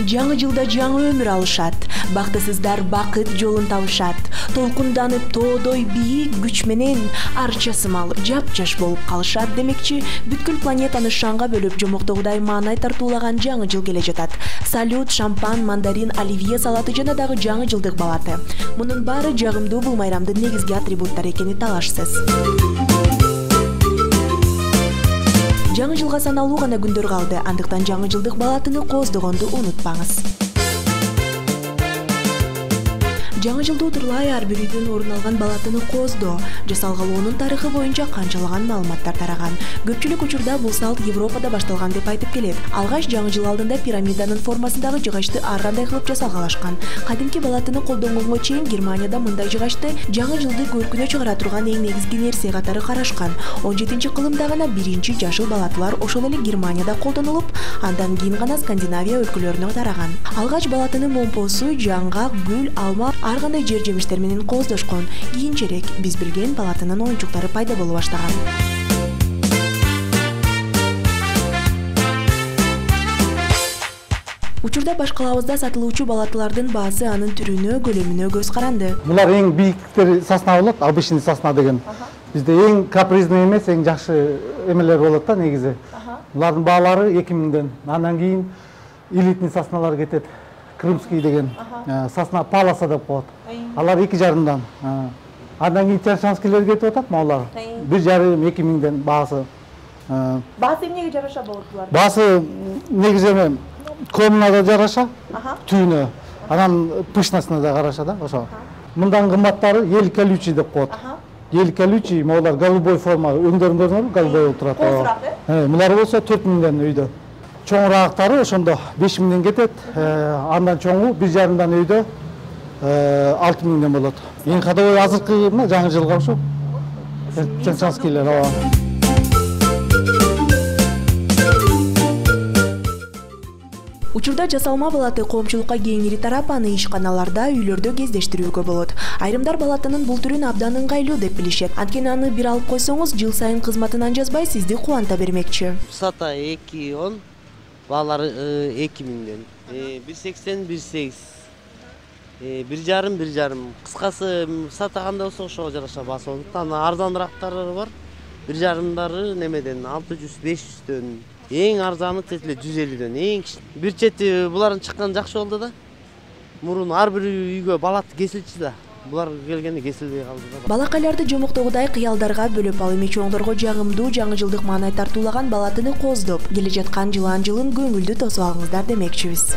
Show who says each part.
Speaker 1: Жаңы жылда жаңы өмүр алышат. Бактысыздар бакыт жолун табышат. Толкунданып тоодой бийик күч менен арча сымал жапжаш болуп калышат демекчи, бүткүл планетаны шаңга бөлүп жомоктогудай маанай тартуулаган жаңы жыл келе жатат. Салют, шампан, мандарин, оливье салаты жана дагы жаңы жылдык балаты. Мунун баары жагымдуу бул майрамдын негизги атрибуттары экени талашсыз. Жаңы жылга саналуу гана күндөр калды, андыктан жаңы жылдык балатыны кооздогонду унутпаңыз. Жаңы жылды утурлай ар бир үйдөн орун алган балатыны кооздоо, жасалгалоонун тарыхы боюнча канчалаган маалыматтар тараган. Көпчүлүк учурда бул салт Европада башталган деп айтып келет. Алгач жаңы жыл алдында пирамиданын формасындагы жыгачты ар кандай кылып жасалгалашкан. Кадимки балатыны колдонгонго чейин Германияда мындай жыгачты жаңы жылды көркүнө чыгара турган эң негизги нерсе катары карашкан. 17-кылымда гана биринчи жашыл балатылар ошол эле Германияда колдонулуп, андан кийин гана Скандинавия өлкөлөрүнө тараган. Алгач балатыны момпосу, жаңгак, гүл, алма, ар кандай жер жемиштер менен кооздошкон. Кийинчерээк биз билген балатынын оюнчуктары пайда боло баштаган. Учурда баш калабызда сатылуучу балатылардын баасы анын түрүнө, көлөмүнө көз каранды.
Speaker 2: Булар эң бийиктери сосна болот, обычный сосна деген. Бизде эң капризный эмес, эң жакшы эмелер болот да негизи. Булардын баалары 2000ден. Андан кийин элитный сосналар кетет. Крымский деген сосна паласа деп коет. Алар 2,5-дан. Андан кийин Тершанскийлер кетип атат, малар. 1,5-2000ден баасы.
Speaker 1: Баасы эмнеге жараша болот булар?
Speaker 2: Баасы негизи комнада жараша, түйүнө. Анан пышнасына да караша да, ошо. Мындан кымбаттары ел колючий деп коет. Ел колючий, малар голубой форма, өңдөрүн көрдүңөрбү? Голубой болуп турат. Мулар болсо 4000ден үйдө. Чоңураагытары ошондо 5000ден кетет, андан чоңу 1,5-дан үйдө 6000ден болот. Эң кадабой азыркы жаңы жылга ушу. Тершанскийлер.
Speaker 1: Учурда жасалма балаты коомчулукка кеңири тарап, аны ишканаларда, үйлөрдө кездештирүүгө болот. Айрымдар балатынын бул түрүн абдан ыңгайлуу деп билишет. Анткени аны бир алып койсоңуз, жыл сайын кызматынан жазбай сизди кубанта бермекчи.
Speaker 3: Сата 2,10, баалары 2000ден. 1,80, 1,8. 1,5. Кыскасы сатаганда болсо ошого жараша баасы болот. Анан арзаныраактары бар. 1,5дары немеден 600-500дөн. Эң арзаны тетиле 150дөн. Эң бир чети булардын чыкканы жакшы болду да. Мурун ар бир үйгө балат кесилчү да. Булар келгенде кесилбей калды да.
Speaker 1: Балакайларды жомоктогудай кыялдарга бөлөп ал эми чоңдорго жагымдуу жаңы жылдык маанай тартуулаган балатыны кооздоп, келе жаткан жылан жылын көңүлдүү тосуп алыңыздар демекчибиз.